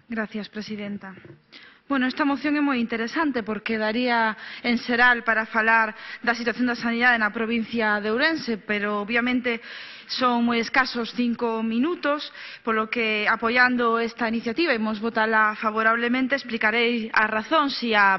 Gracias, presidenta. Bueno, esta moción é moi interesante porque daría en xeral para falar da situación da sanidade na provincia de Ourense, pero obviamente son moi escasos 5 minutos, polo que apoiando esta iniciativa imos votala favorablemente, explicarei as razóns e a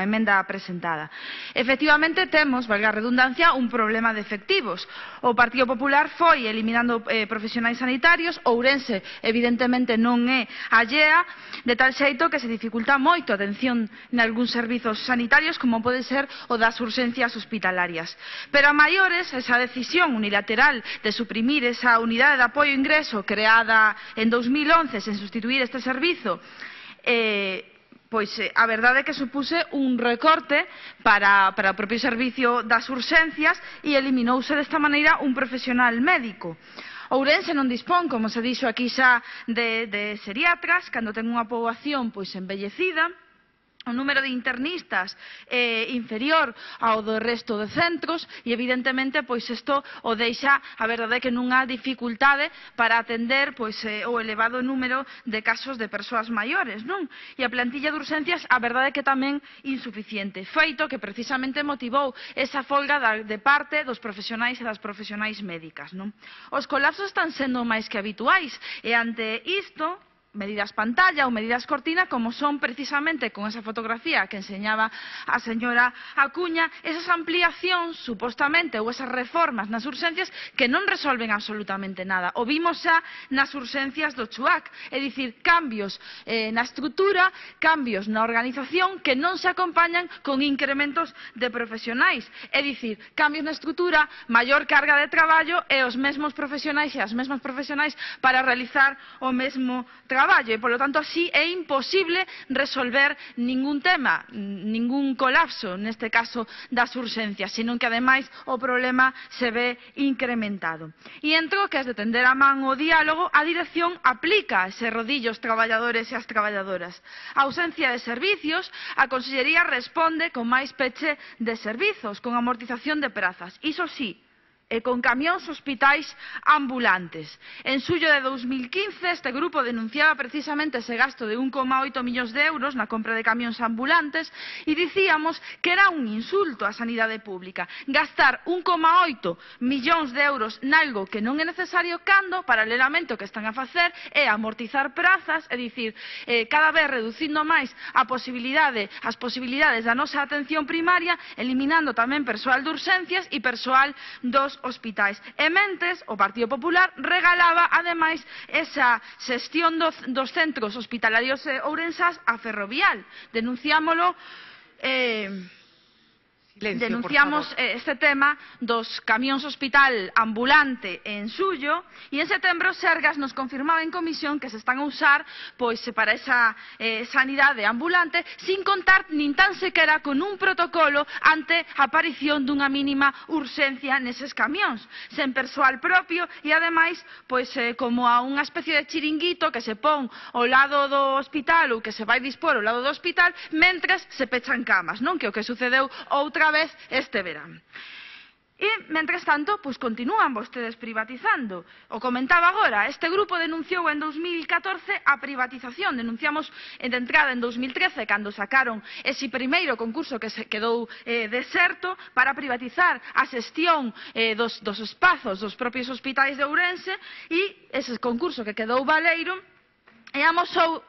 emenda presentada. Efectivamente temos, valga a redundancia, un problema de efectivos. O Partido Popular foi eliminando profesionais sanitarios, Ourense evidentemente non é allea, de tal xeito que se dificulta moito a atención nalgúns servizos sanitarios como pode ser o das urxencias hospitalarias. Pero a maiores, esa decisión unilateral de suprimir esa unidade de apoio ao ingreso creada en 2011 sen sustituir este servizo, pois a verdade é que supuse un recorte para o propio servicio das urxencias e eliminouse desta maneira un profesional médico. Ourense non dispón, como se dixo aquí xa, de xeriatras, cando ten unha poboación envellecida, o número de internistas é inferior ao do resto de centros e evidentemente isto o deixa, a verdade é que nunha dificultade para atender o elevado número de casos de persoas maiores, non? E a plantilla de urxencias, a verdade é que tamén insuficiente, feito que precisamente motivou esa folga de parte dos profesionais e das profesionais médicas, non? Os colapsos están sendo máis que habituais e ante isto medidas pantalla ou medidas cortina, como son precisamente con esa fotografía que enseñaba a señora Acuña, esas ampliacións, supostamente, ou esas reformas nas urxencias que non resolven absolutamente nada. O vimos xa nas urxencias do Chuac, é dicir, cambios na estrutura, cambios na organización que non se acompañan con incrementos de profesionais. É dicir, cambios na estrutura, maior carga de traballo e os mesmos profesionais e as mesmas profesionais para realizar o mesmo traballo. E, polo tanto, así é imposible resolver ningún tema, ningún colapso, neste caso das urxencias, senón que, ademais, o problema se ve incrementado. E entro que, as de tender a man o diálogo, a dirección aplica ese rodillo aos traballadores e ás traballadoras. A ausencia de servicios, a Consellería responde con máis peche de servizos, con amortización de prazas. Iso sí, e con camións hospitais ambulantes. En xullo de 2015, este grupo denunciaba precisamente ese gasto de 1,8 millóns de euros na compra de camións ambulantes e dicíamos que era un insulto á sanidade pública. Gastar 1,8 millóns de euros nalgo que non é necesario cando, paralelamente, o que están a facer é amortizar prazas, é dicir, cada vez reducindo máis as posibilidades da nosa atención primaria, eliminando tamén persoal de urxencias e persoal dos hospitais. E mentes, o Partido Popular regalaba, ademais, esa xestión dos centros hospitalarios ourensás a Ferrovial. Denunciamos este tema dos camións hospital ambulante en xullo e en setembro Sergas nos confirmaba en comisión que se están a usar para esa sanidade ambulante sin contar nin tan sequera con un protocolo ante a aparición dunha mínima urxencia neses camións, sen persoal propio e ademais como a unha especie de chiringuito que se pon ao lado do hospital ou que se vai dispor ao lado do hospital mentres se pechan camas, non? Que é o que sucedeu outra vez este verán. E, mentres tanto, continúan vostedes privatizando. O comentaba agora, este grupo denunciou en 2014 a privatización. Denunciamos de entrada en 2013, cando sacaron ese primeiro concurso que se quedou deserto para privatizar a xestión dos espazos dos propios hospitais de Ourense e ese concurso que quedou baleiro e amosou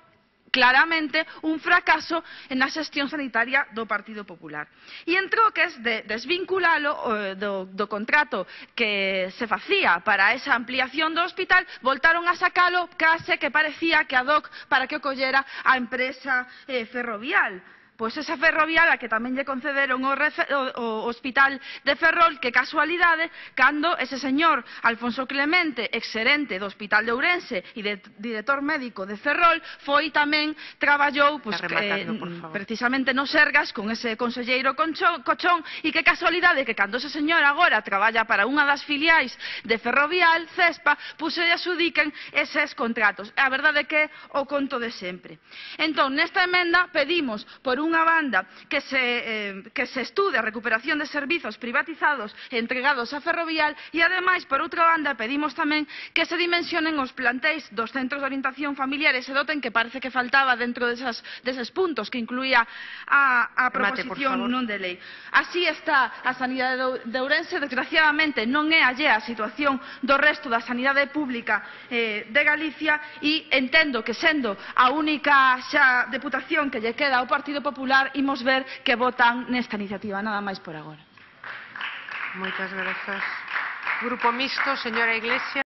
claramente un fracaso na xestión sanitaria do Partido Popular. E en troques de desvinculalo do contrato que se facía para esa ampliación do hospital, voltaron a sacalo case que parecía que ad hoc para que o collera a empresa Ferrovial. Pois esa Ferrovial a que tamén lle concederon o hospital de Ferrol, que casualidade, cando ese señor Alfonso Clemente, exxerente do Hospital de Ourense e director médico de Ferrol, foi tamén, traballou precisamente no Sergas con ese conselleiro Cochón e que casualidade que cando ese señor agora traballa para unha das filiais de Ferrovial, Cespa, se lle adxudiquen eses contratos. A verdade é que o conto de sempre. Entón, nesta emenda pedimos por dunha banda, que se estude a recuperación de servizos privatizados e entregados a Ferrovial e, ademais, por outra banda, pedimos tamén que se dimensionen os plantéis dos centros de orientación familiar e se doten, que parece que faltaba dentro deses puntos que incluía a proposición non de lei. Así está a sanidade de Ourense. Desgraciadamente non é allea a situación do resto da sanidade pública de Galicia e entendo que, sendo a única xa deputación que lle queda ao Partido Popular, imos ver que votan nesta iniciativa. Nada máis por agora. Moitas grazas. Grupo Mixto, señora Iglesias.